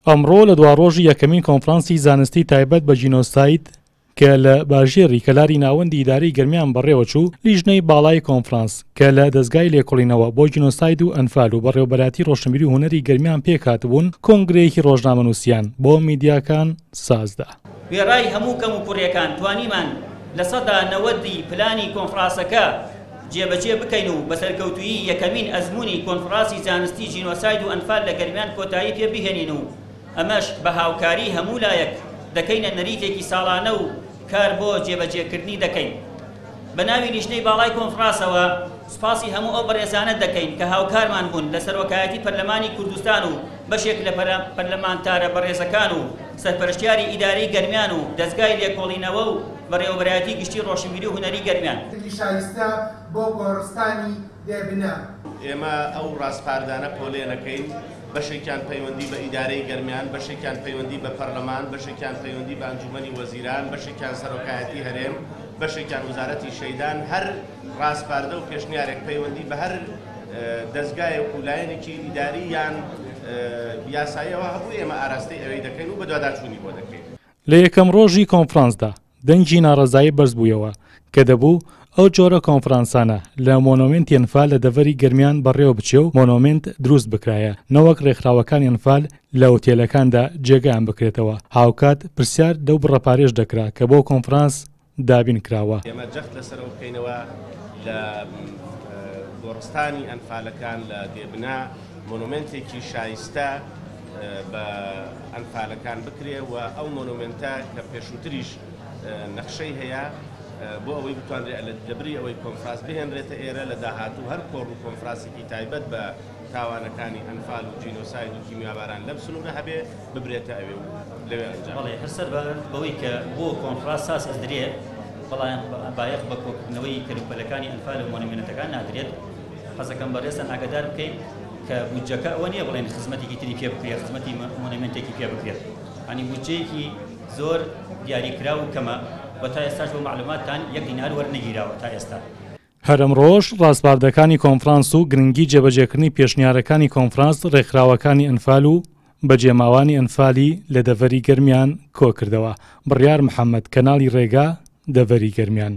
ئەمڕۆ لە دواڕۆژی یەکەمین کۆنفرانسی زانستی تایبەت بە جینۆساید کە لە باژێڕی کەلاری ناوەندی ئیدارەی گەرمیان بەڕێوەچوو، لیژنەی باڵای کۆنفرانس کە لە دەزگای لێکۆڵینەوە بۆ جینۆساید و ئەنفال و بەڕێوەبەرایەتی ڕۆشنبیری و هونەری گەرمیان پێکهاتبوون، کۆنگرەیەکی ڕۆژنامەنووسیان بۆ میدیاکان سازدا. وێڕای هەموو کەموکوڕیەکان توانیمان 90% ی پلانی کۆنفراسەکە جێبەجێ بکەین و بە سەرکەوتوویی یەکەمین ئەزموونی کۆنفراسی زانستی جینۆساید و ئەنفال لە گەرمیان کۆتایی پێ بهێنین و ئەمەش بە هاوکاری هەموو لایەک دەکەینە نەریتێکی ساڵانە و کار بۆ جێبەجێکردنی دەکەین. بە ناوی لیژنەی باڵای کۆنفراسەوە سوپاسی هەموو ئەو بەڕێزانە دەکەین کە هاوکارمان بوون لە سەرۆکایەتی پەرلەمانی کوردستان و بەشێک لە پەرلەمانتارە بەڕێزەکان و سەرپەرشتیاری ئیدارەی گەرمیان و دەزگای لێکۆڵینەوە و بەڕێوەبەرایەتی گشتی ڕۆشنبیری و هونەری گەرمیان. شایستە بۆ گۆڕستانی بێ بنە. ئێمە ئەو ڕاسپاردانە پۆلێنەکەین، بەشێکیان پەیوەندی بە ئیدارەی گەرمیان، بەشێکیان پەیوەندی بە پەرلەمان، بەشێکیان پەیوەندی بە ئەنجومەنی وەزیران، بەشێکیان سەرۆکایەتی هەرێم، بەشێکیان وزارەتی شەیدان، هەر ڕاسپاردە و پێشنیارێک پەیوەندی بە هەر دەزگایەک و لایەنێکی ئیداری یان یاساییەوە هەبوو ئێمە ئاراستەی ئەوێی دەکەین و بەدواداچوونی بۆ دەکەین. لە یەکەم ڕۆژی کۆنفرانسدا دەنگی ناڕەزایی بەرزبوویەوە کە دەبوو ئەو جۆرە کۆنفرانسانە لە مۆنۆمێنتی ئەنفال لە دەڤەری گەرمیان بەڕێوە بچێ و مۆنۆمێنت دروست بکرایە نەوەک ڕێکخراوەکانی ئەنفال لە ئوتێلەکاندا جێگایان بکرێتەوە، هاوکات پرسیار لەو بڕە پارەیەش دەکرا کە بۆ کۆنفرانس دابین کراوە. ئێمە جەخت لەسەر ئەوە بکەینەوە لە گۆڕستانی ئەنفالەکان لە دێبنا مۆنۆمێنتێکی شایستە بە ئەنفالەکان بکرێ و ئەو مۆنۆمێنتە کە پێشووتریش نەخشەی هەیە بۆ ئەوەی بتوانرێت لەبری ئەوەی کۆنفراس بهێنرێتە ئێرە لە داهاتوو هەر کۆڕ و کۆنفراسێکی تایبەت بە تاوانەکانی ئەنفال و جینۆساید و کیمیاباران لەم سنوورە هەبێ ببرێتە ئەوێ و لەوێ ئەنجام بەڵێ هەر سەر بەوەی کە بۆ کۆنفراس ساز ئەدرێ بەڵام بایەخ بە کۆکردنەوەی کەلوپەلەکانی ئەنفال و مۆنیمێنتەکان نادرێت. حەزەکەم بەڕێزتان ئاگادار بکەین کە بودجەکە ئەوە نییە بڵێن خزمەتێکی تری پێ بکرێت، خزمەتی مۆنێمێنتێکی پێ بکرێت، یانی بودجەیەکی زۆر دیاریکراو و کەمە و تا ئێستاش بۆ مەعلوماتتان یەک دینار وەرنەگیراوە تا ئێستا. هەر ئەمڕۆش ڕاسپاردەکانی کۆنفرانس و گرنگی جێبەجێکردنی پێشنیارەکانی کۆنفرانس ڕێکخراوەکانی ئەنفال و بەجێماوانی ئەنفالی لە دەڤەری گەرمیان کۆکردەوە. بڕیار محەمەد، کەناڵی ڕێگا، دەڤەری گەرمیان.